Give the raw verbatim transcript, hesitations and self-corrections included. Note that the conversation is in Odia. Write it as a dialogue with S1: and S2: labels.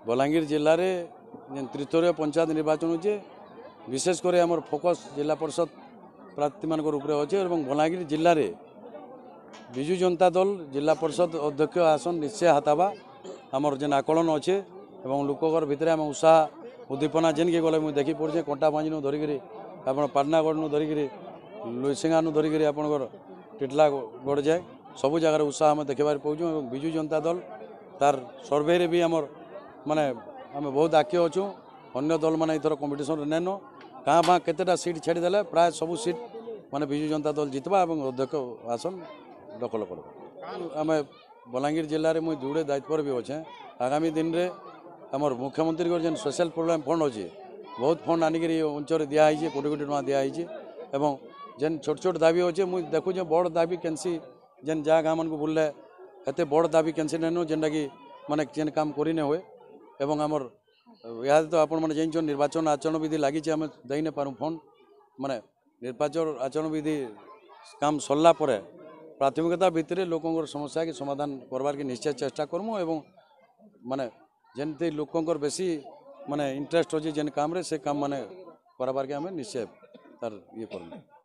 S1: ବଲାଙ୍ଗୀର ଜିଲ୍ଲାରେ ଯେନ୍ ତ୍ରିସ୍ତରୀୟ ପଞ୍ଚାୟତ ନିର୍ବାଚନ ହଉଛେ, ବିଶେଷ କରି ଆମର ଫୋକସ୍ ଜିଲ୍ଲା ପରିଷଦ ପ୍ରାର୍ଥୀମାନଙ୍କର ଉପରେ ଅଛେ ଏବଂ ବଲାଙ୍ଗୀର ଜିଲ୍ଲାରେ ବିଜୁ ଜନତା ଦଳ ଜିଲ୍ଲା ପରିଷଦ ଅଧ୍ୟକ୍ଷ ଆସନ ନିଶ୍ଚୟ ହାତାବା ଆମର ଯେନ୍ ଆକଳନ ଅଛେ। ଏବଂ ଲୋକଙ୍କର ଭିତରେ ଆମେ ଉତ୍ସାହ ଉଦ୍ଦୀପନା ଯେନ୍କି ଗଲେ ମୁଇଁ ଦେଖି ପଡ଼ୁଛେ, କଣ୍ଟାବାଞ୍ଜିନୁ ଧରିକିରି ଆପଣ ପାଟନାଗଡ଼ନୁ ଧରିକିରି ଲୁଇସିଙ୍ଗାନୁ ଧରିକିରି ଆପଣଙ୍କର ଟିଟଲାଗଡ଼ ଯାଏ ସବୁ ଜାଗାରେ ଉତ୍ସାହ ଆମେ ଦେଖିବାରେ ପାଉଛୁ। ଏବଂ ବିଜୁ ଜନତା ଦଳ ତାର ସର୍ଭେରେ ବି ଆମର ମାନେ ଆମେ ବହୁତ ଆଗ୍କେ ଅଛୁ। ଅନ୍ୟ ଦଳମାନେ ଏଥର କମ୍ପିଟିସନ୍ରେ ନେନ, କାଁ ଭାଁ କେତେଟା ସିଟ୍ ଛାଡ଼ିଦେଲେ ପ୍ରାୟ ସବୁ ସିଟ୍ ମାନେ ବିଜୁ ଜନତା ଦଳ ଜିତବା ଏବଂ ଅଧ୍ୟକ୍ଷ ଆସନ ଦଖଲ କରବା। ଆମେ ବଲାଙ୍ଗୀର ଜିଲ୍ଲାରେ ମୁଇଁ ଯୋଡ଼େ ଦାୟିତ୍ୱରେ ବି ଅଛେଁ। ଆଗାମୀ ଦିନରେ ଆମର ମୁଖ୍ୟମନ୍ତ୍ରୀଙ୍କର ଯେନ୍ ସ୍ପେଶାଲ ପ୍ରୋଗ୍ରାମ ଫଣ୍ଡ ଅଛି, ବହୁତ ଫଣ୍ଡ ଆଣିକିରି ଏ ଅଞ୍ଚଳରେ ଦିଆହେଇছে, କୋଟି କୋଟି ଟଙ୍କା ଦିଆହେଇছে। ଏବଂ ଯେନ୍ ଛୋଟ ଛୋଟ ଦାବି ଅଛେ, ମୁଇଁ ଦେଖୁଛେ ବଡ଼ ଦାବି କେନ୍ସି ଯେନ୍ ଯାହା ଗାଁମାନଙ୍କୁ ବୁଲଲେ ଏତେ ବଡ଼ ଦାବି କେନ୍ସି ନେନୁ ଯେନ୍ଟାକି ମାନେ ଯେନ୍ କାମ କରି ନାଇଁ ହୁଏ। ଏବଂ ଆମର ଇହାଦେ ତ ଆପଣମାନେ ଜାଣିଛନ୍, ନିର୍ବାଚନ ଆଚରଣ ବିଧି ଲାଗିছে, ଆମେ ଦେଇ ନାଇଁ ପାରୁ ଫଣ୍ଡ। ମାନେ ନିର୍ବାଚନ ଆଚରଣ ବିଧି କାମ ସରିଲା ପରେ ପ୍ରାଥମିକତା ଭିତରେ ଲୋକଙ୍କର ସମସ୍ୟାକେ ସମାଧାନ କରବାର୍କେ ନିଶ୍ଚୟ ଚେଷ୍ଟା କରମୁ। ଏବଂ ମାନେ ଯେମିତି ଲୋକଙ୍କର ବେଶୀ ମାନେ ଇଣ୍ଟରେଷ୍ଟ ଅଛି ଯେନ୍ କାମରେ, ସେ କାମ ମାନେ କରାବାର୍କେ ଆମେ ନିଶ୍ଚୟ ତାର ଇଏ କରମୁ।